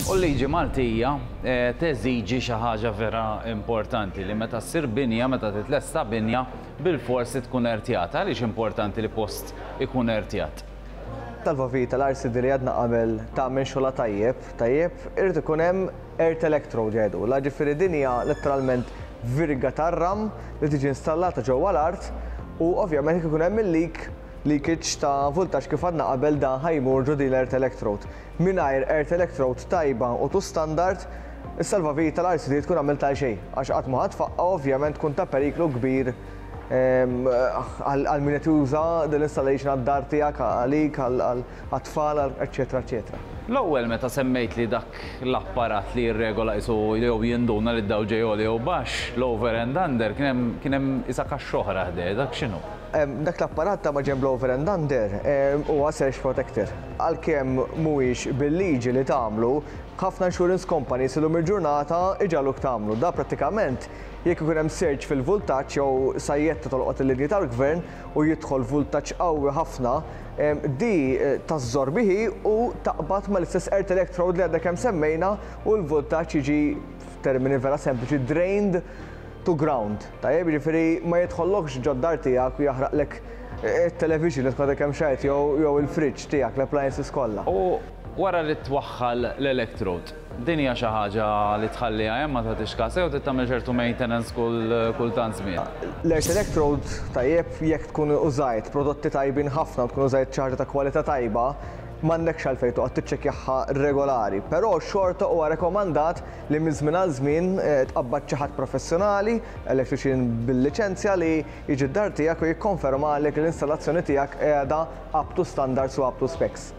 U l-liġi Maltija teżiġi xi ħaġa vera importanti li meta ssir binja, meta titlesta binja, bilfors li tkun ertjata. Għaliex importanti li post ikun ertjat? Tal-Vavita, l-RCD li għadna qabel tagħmel xogħolha tajjeb, tajjeb, irid ikun hemm earth electrode jgħidulha, ġifieri din hija letteralment virga tar-ram li tiġi installata ġewwa l-art u ovvjament jekk ikun hemm il-leak, leakage ta' vultaġġ kif għadna qabel dan ħa jmur ġo din l-earth electrode. Mingħajr earth electrode tajba u to standard, is-salvavita tal-RCD tkun għamilt għal xejn, għax qatt ma ħa tfaqqa' u ovvjament tkun ta' periklu kbir għal min qed juża din l-installation għad-dar tiegħek, għalik, għat-tfal, eċċetera eċċetera. L-ewwel meta semmejtli dak l-apparat li jirregola qisu jew jinduna li d-dawl ġej għoli jew baxx, l-over and under, kien hemm kien hemm qisha kaxxa oħra ħdejh, dak x'inhu? Dak l-apparat ta' maġenb l-over and under huwa surge protector. Għalkemm mhuwiex bil-liġi li tagħmlu, ħafna insurance companies illum il-ġurnata iġagħluk tagħmlu. Da prattikament jekk ikun hemm surge fil-vultaġġ jew sajjetta tolqot il-linji tal-gvern u jidħol vultaġġ qawwi ħafna, di tażżorbi hi u taqbad mal-istess earth electrode li għadna kemm semmejna u l-vultaġġ jiġi f'termini vera sempliċi drained to ground. Tajjeb, jiġifieri ma jidħollokx ġod-dar tiegħek u jaħraqlek it-television li tkun għadek kemm xrajt jew il-fridge tiegħek, l-appliances kollha. U wara li twaħħal l-electrode, din hija xi ħaġa li tħalliha hemm ma tagħtix kas jew trid tagħmel ċertu maintenance kull kull tant żmien? L-earth electrode, tajjeb, jekk tkun użajt prodotti tajbin ħafna u tkun użajt xi ħaġa ta' kwalità tajba, m'għandekx għalfejn toqgħod tiċċekkjaha regolari. Però xorta huwa rekomandat li minn żmien għal żmien tqabbad xi ħadd professjonali, electrician bil-liċenzja li jiġi d-dar tiegħek u jikkonfermalek li l-installazzjoni tiegħek qiegħda up to standards u up to specs.